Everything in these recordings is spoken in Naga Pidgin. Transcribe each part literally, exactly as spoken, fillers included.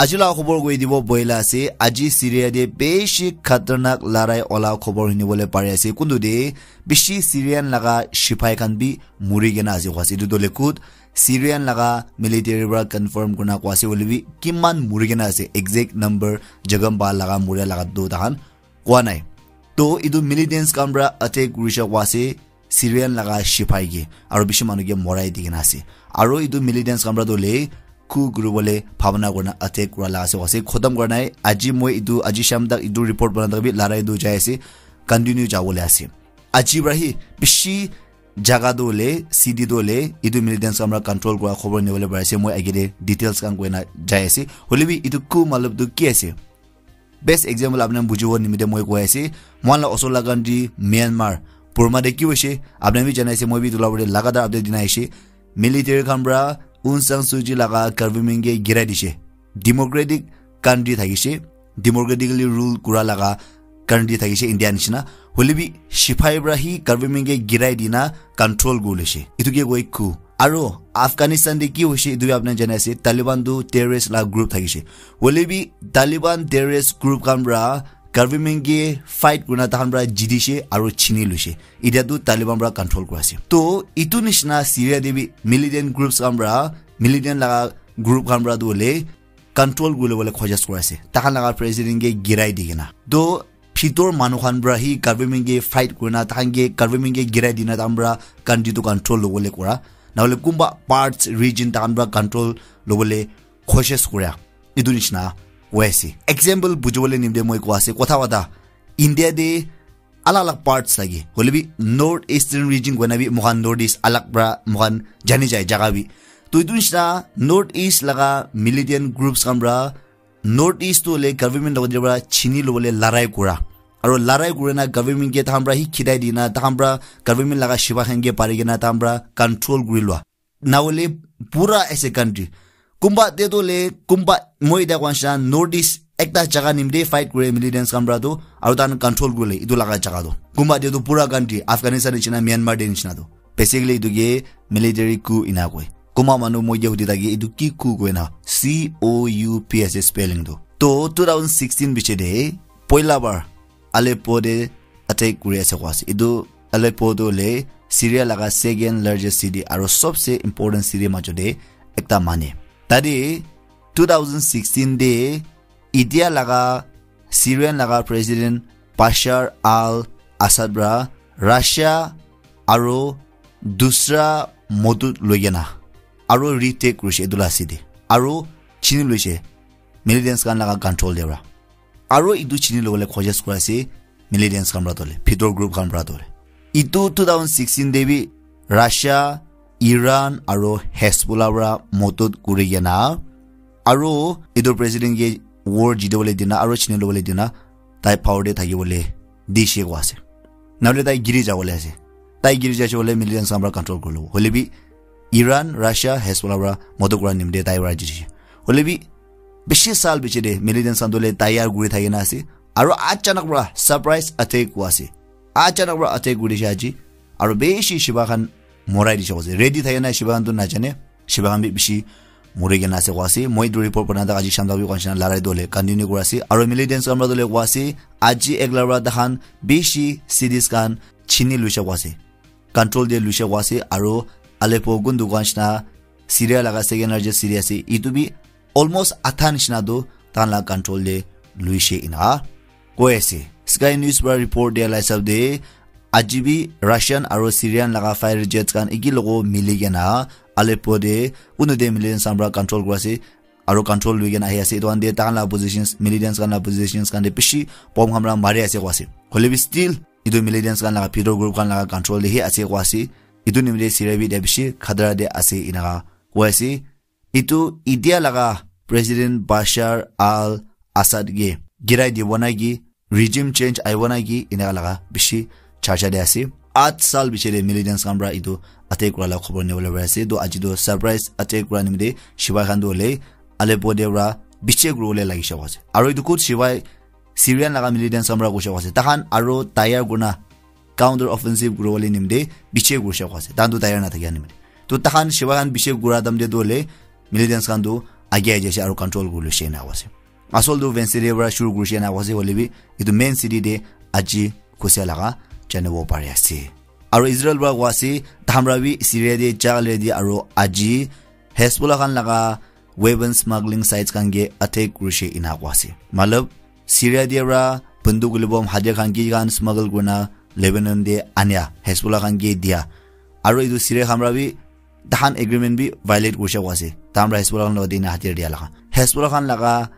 Aji la khobor koi dibo boila ase, aji Syria te beshi khatarnak larai ola khobor hunibole pari ase. Kuntu te beshi Syrian laga shipai khan bi muri kena ase kwa ase. Etu to lekut Syrian laga military para confirm kurna kwa ase, hoile bi kiman muri kena ase, exact number jagam ba laga muria laga do tahan kwa nai. To etu militants khan para attack kurisha kwa ase, Syrian laga shipai ke, aro bishi manu ke morai di kena ase. Aro etu militants khan para to le coup kuribole bhabana kurina attack kura la ase, ase khotom kura nai. Aji moi etu, aji sham tak etu report bana tak bi larai tu jai ase, continue jabole ase. Aji para hi bishi jaga to le, city to le, etu militants khan para control kura khobor nibole pari ase. Moi agete details khan koina jai ase. Hoile bi etu coup matlab tu ki ase? Best example apni khan bujibo nimite moi koi ase, mohan la osor la country Myanmar, Burma te ki hoise, apni khan bi janai ase, moi bi etu la update lagatar update dina aise. Military khan para Aung San Suu Kyi laga government ke girai dise. Democratic country thakise, democratically rule kura laga country thakise India nishina. Hoile bi shipai para hi government ke girai dina control kuri lise. Etu ke koi coup. Aro Afghanistan te ki hoise etu bi apni khan janai ase, Taliban tu terrorist la group thakise. Hoile bi Taliban terrorist group khan para government ke fight kurina tahan para jitise aro chini luise. Etia tu Taliban para control kura ase. To etu nishina Syria te bi militant groups khan para, militant laga group khan para tu hoile control kuri lobole khojis kuri ase, tahan laga president ke girai di kena. To bhitor manu khan para hi government ke fight kurina, tahan ke government ke girai dina, tahan para country tu control lobole kura, nahole kunba parts region tahan para control lobole khojis kura, etu nishina hoi ase. Example bujibole nimite moi koi ase, kotha kotha India te alag alag parts thake, hoile bi North Eastern region koina bi moikhan North East alag pra moikhan jani jai jaga bi. To etu nishina North East laga militant groups khan pra North East tu hoile government logot pra chini lobole larai kura. Aro larai kurina government ke tahan pra hi khitai dina, tahan pra government laga shipa khan ke pari kena tahan pra control kuri lua. Nahole pura as a country. Kumba te toh le, kumba moi eta koa nishina North East ekta jaga nimite fight kure militants khan pra toh, aru tahan control kurele etu laga jaga toh. Kumba te toh pura country, Afghanistan nishina, Myanmar te nishina toh. Basically etu ke military coup ena koi. Kumba manu moi ke hudi thake, etu ki coup koi na? C O U P ase spelling toh. Toh two thousand sixteen piche te, poila bar Aleppo te attack kuri ase koa ase. Etu Aleppo tu hoile Syria laga second largest city aro sobse important city majo te ekta mane. Tate two thousand sixteen te India laga Syrian laga president Bashar al-Assad pra Russia aro dusra modut loi kena aro retake kurishe etu la city. Aro chini loishe militants khan laga control te pra. Aro etu chini lobole khojis kura ase militants khan pra tole, bhitor group khan pra tole. Etu two thousand sixteen te bi Russia, Iran aro Hezbollah pra modot kuri kena, aro etu president ke war jitibole dina aro chini lobole dina tai power te thakibole dishe koa ase. Nahole tai giri jabole ase. Tai giri jaise koile militants khan pra control kuri lobo. Hoile bi Iran, Russia, Hezbollah pra modot kura nimite tai pra jishe. Hoile bi bishi sal piche te militants khan toh le tayar kuri thaki na ase. Aro achanak pra surprise attack kua ase. Achanak pra attack kuri dishe aji. Aro bishi shipa khan morai dishe koa ase. Ready thaki na shipa khan toh najane. Shipa khan bi bishi muri kena ase koa ase. Moi etu report bana thaka aji sham tak bi koa nishina larai toh le continue kuri ase. Aro militants khan pra toh le koa ase, aji ekla pra tahan bishi cities khan chini luishe koa ase. Control te luishe koa ase. Aro Aleppo kuntu koa nishina Syria laga second largest city ase. Etu bi almost adha nishina toh tahan la control te luishe ena koi ase. Sky News pra report dia la hisab te, aji bi Russian aro Syrian laga fighter jets khan eki logo mili kena Aleppo te kunu te militants khan pra control kuri ase, aro control lui kena ahi ase. Etu khan te tahan la positions, militants khan la positions khan te bishi bomb khan pra mari ase koa ase. Hoile bi still etu militants khan laga bhitor group khan laga control te hi ase koa ase. Etu nimite Syria bi etia bishi khatara te ase enaka koi ase. Etu India laga President Bashar al-Assad ke girai dibo na ki, regime change ahibo na ki, enaka laga bishi charcha te ase. Aath sal piche te militants khan pra etu attack kura la khobor nibole pari ase. To aji to surprise attack kura nimite shipai khan to hoile Aleppo te pra biche kuribole lagi shabo ase. Aro etu khud shipai Syrian laga militants khan pra koishe koa ase. Tahan aro tayar kurna counter offensive kuribole nimite biche kurishe koa ase. Tahan tu tayar na thakia nimite. To tahan shipa khan biche kura time te tu hoile militants khan tu age age ase aro control kuri luse ena koise. Asol tu Wednesday te para shuru kurishe ena koise, hoile bi etu main city te aji khusia laga janibo pari ase. Aro Israel para koa ase, tahan para bi Syria te ja already aro aji Hezbollah khan laga weapon smuggling sites khan ke attack kurishe ena koa ase. Matlab, Syria te para banduk guli bom hadiya khan ki khan smuggle kurina Lebanon te ania, Hezbollah khan ke dia. Aro etu Syria khan para bi tahan agreement bi violate kurishe koa ase. Tahan para Hezbollah khan logote ena hadiya dia laga. Hezbollah khan laga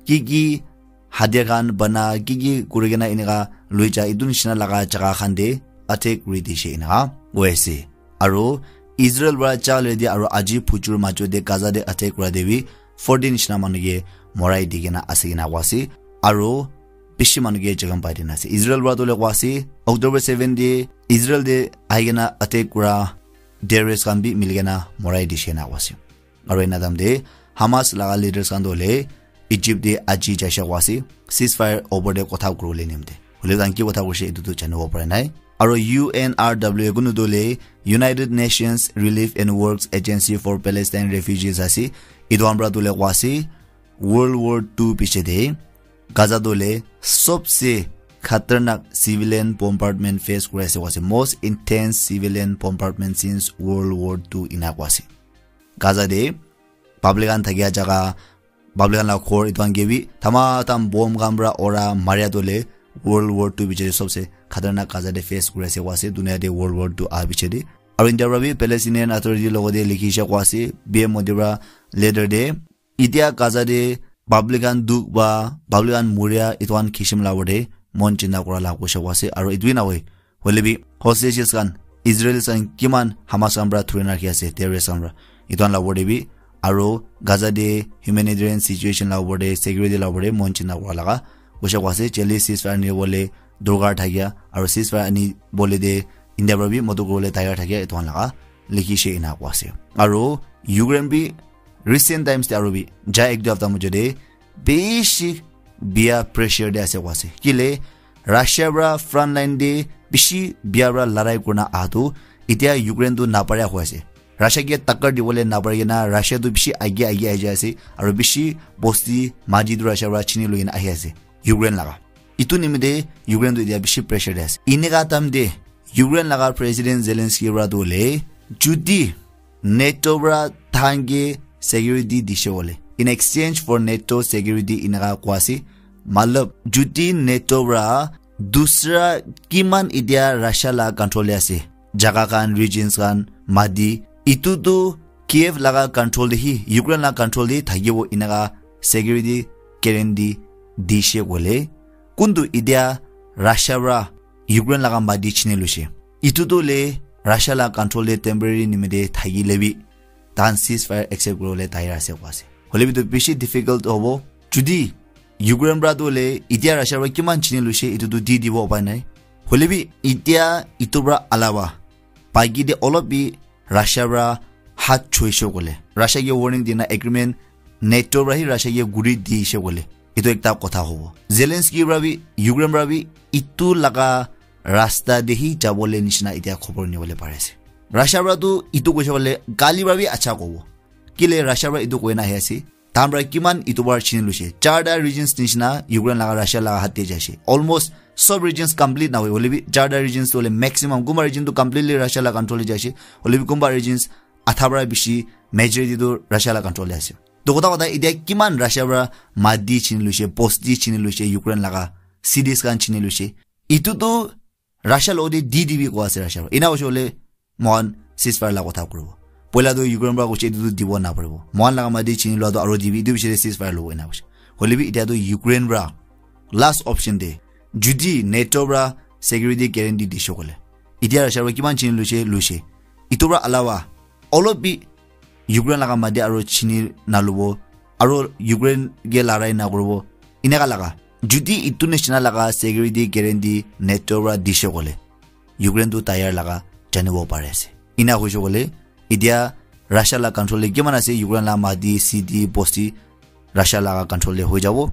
ki ki hadiya khan bana ki ki kuri kena eneka lui ja etu nishina laga jaga khan te attack kuri dishe eneka koi ase. Aro Israel para ja already aro aji phujur majo te Gaza te attack kura te bi forty nishina manu ke morai di kena ase kena koa ase. Aro bishi manu ke jokhom pai dina ase. Israel para tu le koa ase October seven te Israel te ahi kena attack kura terrorist khan bi mili kena morai dishe ena koa ase. Aro ena time te Hamas laga leaders khan tu le Egypt te aji jaishe koa ase, ceasefire opor te kotha kuribole nimite. Hoile tahan ki kotha kurishe etu tu janibo para nai. Aro U N R W kunu tu le United Nations Relief and Works Agency for Palestine Refugees ase. Etu khan para tu le koa ase, World War two piche te Gaza tu le sobse khatarnak civilian bombardment face kuri ase koa ase. Most intense civilian bombardment since World War two ena koa ase. Gaza te public khan thakia jaga, public khan la ghor etu khan ke bi thama tham bomb khan para ura maria tu le World War two piche te sobse khatarnak Gaza te face kuri ase koa ase, dunia te World War two aha piche te. Aro India para bi Palestinian Authority logote likhishe koa ase, P M Modi para letter te, etia Gaza te public khan dukh pa, public khan muria, etu khan kishim la opor te mon chinta kura la koishe koa ase, aro etu hi nahoi, hoile bi hostages khan, Israelis khan kiman Hamas khan para thuri na rakhi ase, terrorist khan para, etu khan la opor te bi, aro Gaza te humanitarian situation la opor te, security la opor te mon chinta kura laga koishe koa ase, jaldi ceasefire ani bole dorkar thakia, aro ceasefire ani bole te India para bi modot kuribole tayar thakia, etu khan laga likhishe ena koa ase. Aro Ukraine bi recent times te aro bi ja ek do hafta majo te bishi bia pressure te ase koa ase. Kile Russia para front line te bishi bia para larai kurina aha tu etia Ukraine tu naparia hoi ase. Russia ke takkar dibole napari kena Russia tu bishi age age ahi jai ase, aro bishi bosti maji tu Russia para chini loi kena ahi ase Ukraine laga. Etu nimite Ukraine tu etia bishi pressure te ase. Eneka time te Ukraine laga President Zelensky para tu hoile, judi NATO para thahan ke security dishe bole, in exchange for NATO security eneka koa ase. Matlab, judi NATO para dusra kiman etia Russia la control te ase, jaga khan, regions khan, mati, etu tu Kiev laga control te hi, Ukraine laga control te thakibo eneka security guarantee dishe koile, kuntu etia Russia para Ukraine laga mati chini luishe, etu tu le Russia laga control te temporary nimite thakile bi, tahan ceasefire accept kuribole tayar ase koa ase. Hoile bi tu bishi difficult hobo. Judi Ukraine para tu hoile etia Russia para kiman chini luishe, etu tu di dibo upai nai. Hoile bi etia etu para alawa baki te olop bi Russia para hat choishe koile, Russia ke warning dina agreement NATO para hi Russia ke guri dishe koile, etu ekta kotha hobo. Zelensky para bi, Ukraine para bi etu laga rasta te hi jabole nishina etia khobor nibole pari ase. Russia para tu etu koishe koile gali para bi acha kobo. Kile Russia para etu koina ahi ase. Tahan para kiman etu para chini luishe. Charta regions nishina Ukraine laga Russia laga hat te jaishe. Almost sob regions complete nahoi, hoile bi charta regions tu hoile maximum, kunba region tu completely Russia laga control te jaishe. Hoile bi kunba regions adha para bishi majority tu Russia laga control te ase. To kotha kotha etia kiman Russia para mati chini luishe, bosti chini luishe, Ukraine laga cities khan chini luishe. Etu tu Russia logote di dibi koa ase Russia para. Ena hoishe hoile moikhan ceasefire la kotha kuribo. Poila tu Ukraine para koishe etu tu dibo naparibo. Moikhan laga mati chini lua tu aro dibi, etu piche te ceasefire lobo ena koishe. Hoile bi etia tu Ukraine para last option te judi NATO para security guarantee dishe koile, etia Russia para kiman chini luishe, luishe. Etu para alawa olop bi Ukraine laga mati aro chini nalubo, aro Ukraine ke larai nakuribo, eneka laga. Judi etu nishina laga security guarantee NATO para dishe koile, Ukraine tu tayar laga janibo pari ase. Ena hoishe koile, etia Russia laga control te kiman ase, Ukraine laga mati, city, bosti, Russia laga control te hoi jabo,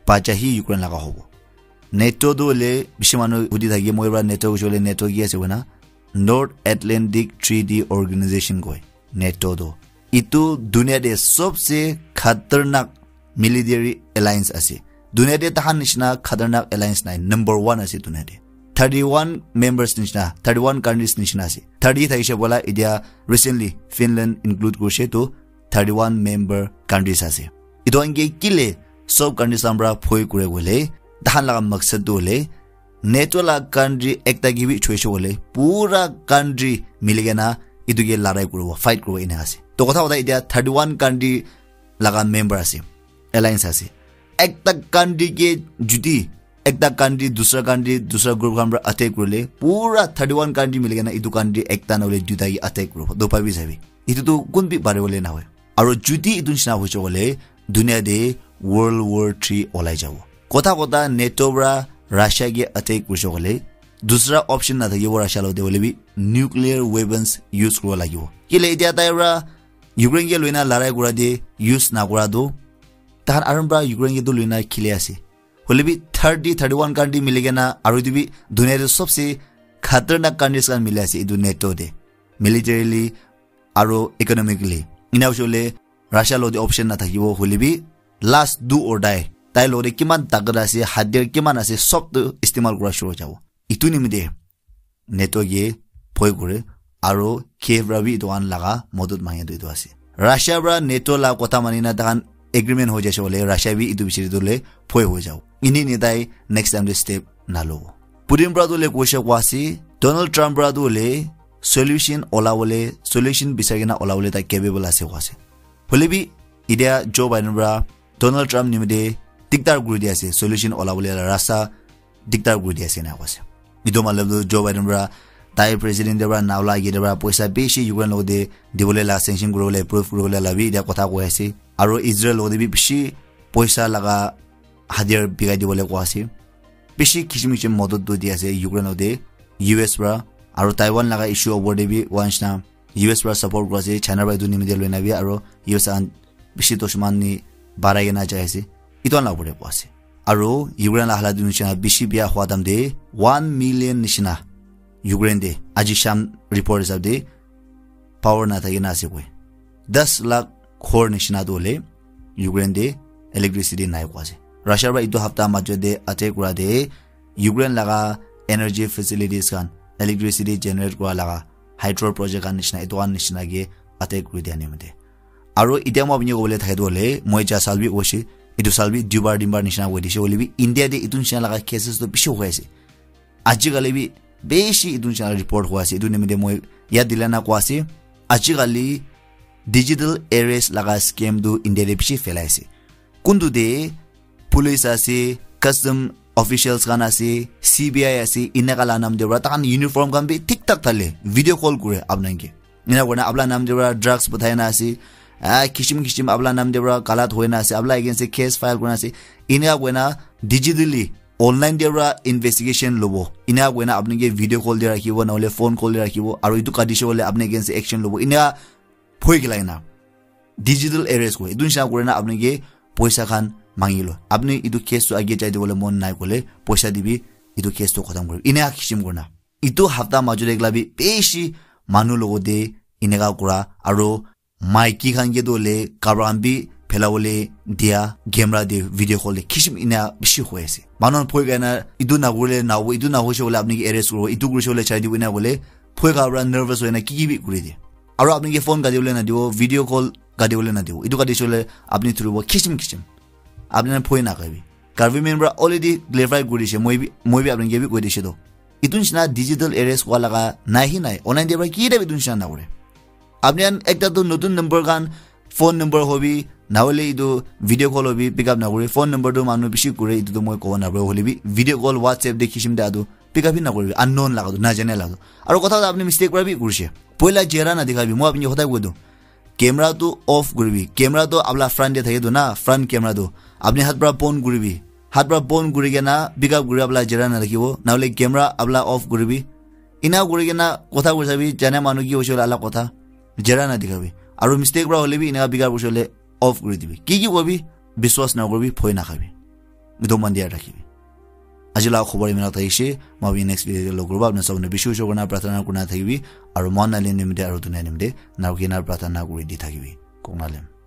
bacha hi Ukraine laga hobo. NATO tu hoile bishi manu hudi thake, moi para NATO hoishe koile NATO ki ase koina, North Atlantic Treaty Organization koi. NATO tu Itu dunia te sobse khatarnak military alliance ase. Dunia te tahan nishina khatarnak alliance nai, number one ase dunia te. Thirty-one members nishina, thirty-one countries nishina ase. Thirty thaishe bola, itia recently Finland include kurishe, to thirty-one member countries ase. Itu ange kile sob countries ambra phoi kure wole, tahan laga maksad tu wole, NATO la country ekta ke bi choishe wole, pura country miligena itu ke larai kuribo, fight kuribo ina ase. To kotha kotha itia thirty-one country laga member ase, alliance ase. Ekta country ke judi, ekta country dusra country, dusra group khan pra attack kurile, pura thirty-one country miligena itu country ekta na hole duita ke attack kuribo. To bhabi sabi, itu tu kun bi pare wole na hoi. Aro judi itu nishina hoise kole, dunia te World War three olai jabo. Kotha kotha NATO pra Russia ke attack kurise kole, dusra option na thakibo Russia lo te, hoile bi nuclear weapons use kuribo lagibo. Kile itia tai pra Ukraine ke loina larai kura te use na kura tu, tahan aram pra Ukraine ke tu loina khili ase. Hoile bi thirty, thirty-one country miligena, aro itu bi dunia te sobse khatarnak countries khan mili ase itu NATO te, militarily aro economically. Ina hoise kole Russia lo te option na thakibo, hoile bi last do or die. Tai lo te kiman takat ase, hathiyar kiman ase, sob tu istemal kura shuru jabo. Itu nimite NATO ke bhoi kure, aro Kiev pra bi itu khan laga modot mangya tu itu ase. Russia pra NATO la kotha mani na tahan agreement hoi jaise bole, Russia bi itu bichari tu le bhoi hoi jabo. Ini ni tai next time te step na lobo. Putin pra tu le koise kwa ase, Donald Trump pra tu le solution ola bole, solution bisari kena ola bole tai capable ase kwa ase. Hoile bi itia Joe Biden pra Donald Trump nimite diktar kuri di ase, solution ola bole la rasta diktar kuri di ase na kwa ase. Itu matlab tu Joe Biden pra tai president te pra na ola age te pra poisa bishi Ukraine lo te dibole la, sanction kuribole, approve kuribole la bi itia kotha koi ase. Aro Israel lo te bi bishi poisa laga hathiyar bikai dibole kwa ase. Bishi kisim kisim modot tu di ase Ukraine lo te, U S pra. Aro Taiwan laga issue opor te bi ones na U S pra support kura ase, China pra itu nimite loina bi, aro U S khan bishi dushman ni barai kena jai ase. Itu khan la opor te koi ase. Aro Ukraine la halat nishina bishi bia hua time te one million nishina Ukraine te aji sham report hisab te power na thaki na ase koi. Das lakh ghor nishina tu hole Ukraine te electricity nai koi ase. Russia pra itu hapta majot te attack kura te Ukraine laga energy facilities khan, electricity generate kura laga hydro project khan nishina, itu khan nishina ke attack kuri dia nimite. Aro itia moi apni kobole thake tu hole, moi ja sal bi koise, itu sal bi duibar tinbar nishina koi dise, hoile bi India te itu nishina laga cases tu bishi hoi ase. Ajikali bi bishi itu nishina report hoi ase. Itu nimite moi yat dilana koi ase, ajikali digital arrest laga scam tu India te bishi phelai ase. Kuntu te police ase, custom officials khan ase, C B I ase, inaka la nam de pra, takhan uniform khan bi thik thak thale, video call kure apnai ke. Ina koina apla nam de pra drugs pathai na ase, ah, kishim kishim apla nam de pra galat hoi na ase, apla against te case file kurina ase. Ina koina digitally, online de pra investigation lobo. Ina koina apni ke video call de rakhibo, na hole phone call de rakhibo, aru itu kadishe hole apni against te action lobo. Ina phoi gilai na. Digital arrest koi. Itu nishina kurina apni ke poisa khan mangi lo. Apni itu case tu age jai dibole mon nai kole, poisa dibi, itu case tu khatam kori. Ina kishim kurina. Itu hapta majot ekla bi bishi manu logote ineka kura, aro maiki khan ke tu le kapra khan bi phelabole dia, camera de video call de kishim ina bishi hoi ase. Manu khan phoi kaina itu na kurile na hobo, itu na hoise bole apni ke arrest kuribo, itu kurise bole chai dibo ina kole phoi kapra nervous hoina ki ki bi kuri de. Aro apni ke phone kati bole na dibo, video call kati bole na dibo. Itu kati shole apni thuribo kishim kishim. Apni na phoi na kaibi. Government pra already clarify kuri dishe, moi bi, moi bi apni ke bi koi dishe to. Itu nishina digital arrest hua laga nai hi nai. Online de pra ki de bi itu nishina na kore. Apni an ekta tu notun number khan, phone number hobi, na hole itu video call hobi, pick up na kore. Phone number tu manu bishi kure, itu tu moi kobo na pare. Hole bi video call, WhatsApp de kishim de atu pick up hi na kore. Unknown laga tu, na jane laga tu. Aro kotha kotha apni mistake pra bi kurishe. Poila jera na dikhabi, moi apni ke hotai koi do. Camera tu off kuribi. Camera tu apla front de thake tu na, front camera tu. Apni hat pra pon kuribi. Hat pra pon kuri kena pick up kuri apla jera na rakhibo. Na hole camera apla off kuribi. Ina kuri kena kotha kuri sabi, jane manu ki hoise hole alak kotha. Jera na dikhabi. Aru mistake pra hole bi ina pick up hoise hole off kuri dibi. Ki ki kobi, biswas na kuribi, phoi na khabi. Itu mon dia rakhibi. Aji la khobor imina thakishe, moi next video te log kuribo, apni sabone bishi bishi kurina prarthana kurina thakibi, aru moi nalin nimite aru dunia nimite narukina prarthana kuri di thakibi. Kongnalem.